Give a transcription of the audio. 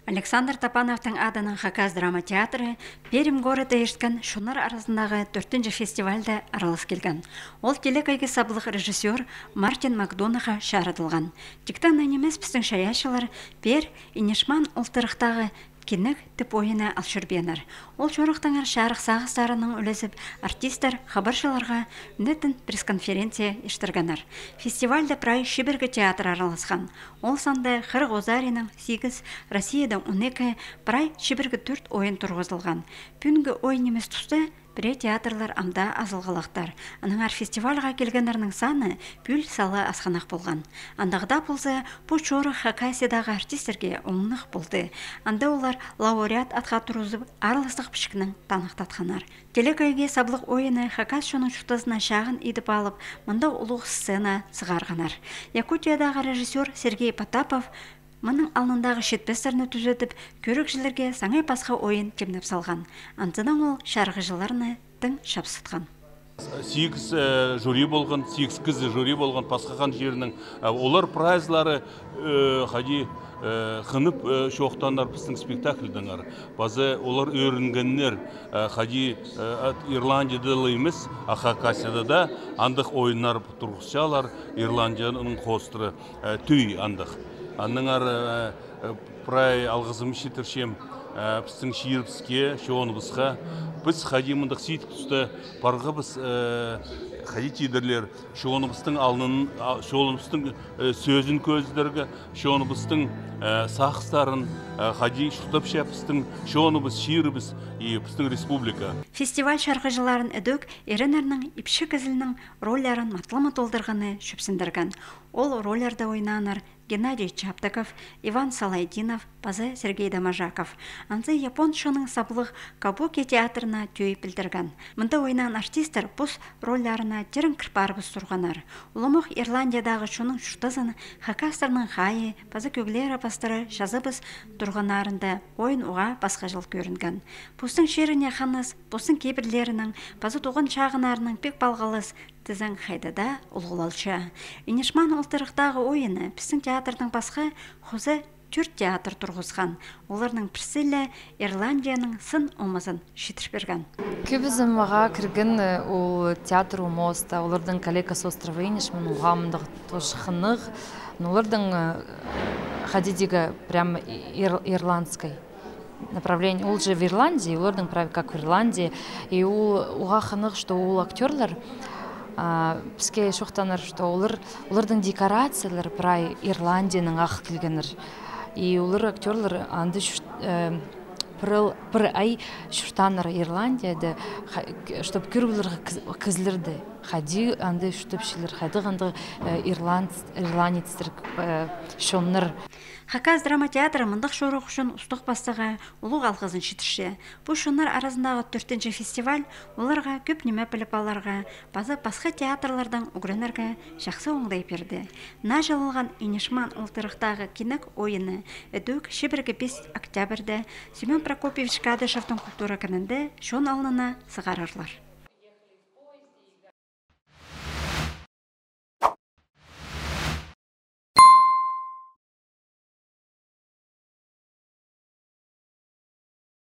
Александр Тапановтың адының Хакас драма театры Пермь города ешкен шунар арасындағы 4-ші фестивальда аралас келген. Ол телекайғы саблық режиссер Мартин Макдонаға шаратылған. Тіктан немес біздің шаяшылар пер инешман ұлтырықтағы кенік тіп ойына алшырбенер. Ол жорықтаңар шарық сағыстарының үлесіп, артистер хабаршыларға үндетін пресс-конференция ештіргенер. Фестивальда прай Шибергі театр араласқан. Ол санда Қырық Озарының 8, Россияда 12, прай Шибергі 4 ойын тұрғызылған. Пүнгі ойын емес тұсты біре театрлар амда азылғалақтар. Аныңар фестивальға келгендерінің саны пүл салы асқанақ болған. Андағда болса, бұл жоры Хакасиядағы артистерге оңнық болды. Анда олар лауреат атқа тұрызып, араластық пішкінің танықтатқанар. Телекайге саблық ойыны Хакас шоның шұқтазына шағын едіп алып, мұнда ұлық сцена сығарғанар. Якутиядағы режиссер Сергей Потапов мұның алнындағы шетпестеріні түзетіп, көрікшілерге саңай пасқа ойын кемнеп салған. Антыдан ол шарғыжыларыны тың шапсытқан. 8 жюри болған, 8 кізі жюри болған пасқақан жерінің олар прайзлары қади қынып шоқтандар біздің спектакльдіңар. Базы олар өрінгеннер қади Ирландияда емес, Хакасияда да андық ойындар тұрғысшалар Ирландияның қостыры түй андық. Аныңар прай алғызым шетіршем біздің шиырбізге, шоғыныбызға біз қадимындық сейтік тұсты барға біз қади тидерлер шоғыныбыздың алынын, шоғыныбыздың сөзін көздерге, шоғыныбыздың сақыстарын қади шұқтап шәпістің шоғыныбыз, шиырбіз біздің республика. Фестиваль шарғыжыларын өдөк ерінерінің ипші кізілінің ролларын матлама толдырғаны шөпсіндірген. Ол роллерді ойнанар Геннадий Чаптаков, Иван Салайдинов, Пазы Сергей Дамажаков. Анзы япон шоның саблық Кабуки театрына түйі білдірген. Мұнда ойнан артистер бұс ролларына терін кірпарбыз тұрғанар. Ұлымық Ирландиядағы шоның шұқтазын Хакастарының қайы, Пазы көглері пастыры жазыбыз тұрғанарында ойын оға басқа жыл көрінген. Бұстың шеріне қаныз, бұстың кейбірлерінің, Пазы туған шағынарының пек балғалыз тізің қайдада ұлғылалшы. Инешман ұлтырықтағы ойыны біздің театрдың басқа Хозы 4 театр тұрғызған. Оларының Присцилля Ирландияның сын омызын шетіріп берген. Көбізім маға кірген ол театр умоста, олардың коллегасы островы Инешман ұғамындық тошқынық, олардың қадидегі прям ирландской направление. Ол же в Ирландии, олардың правы как в Ирландии. И уға қынық, что ол актерлар бізге шоқтаныр, что олардың декорациялары прай Ирландияның ақ келгенір. И олар актерлар анды бір ай шұртаныр Ирландияда, чтоб көргілерге кізлерді. Хади анды шүтіпшілер, хады ғанды ирландецтер шонныр. Хакас драма театры мұндық шоруқ үшін ұстық бастыға ұлық алғызын шетірше. Бұл шонар арасындағы 4-ші фестиваль оларға көп неме біліп аларға, базы басқа театрлардан үгірінерге жақсы оңдай берді. На жалылған Инешман ұлтырықтағы кенік ойыны өдөк Шибергі 5 октябрьді Семен Прокопьевич Кадышевтың культура күнінде шон алынына сығарарлар.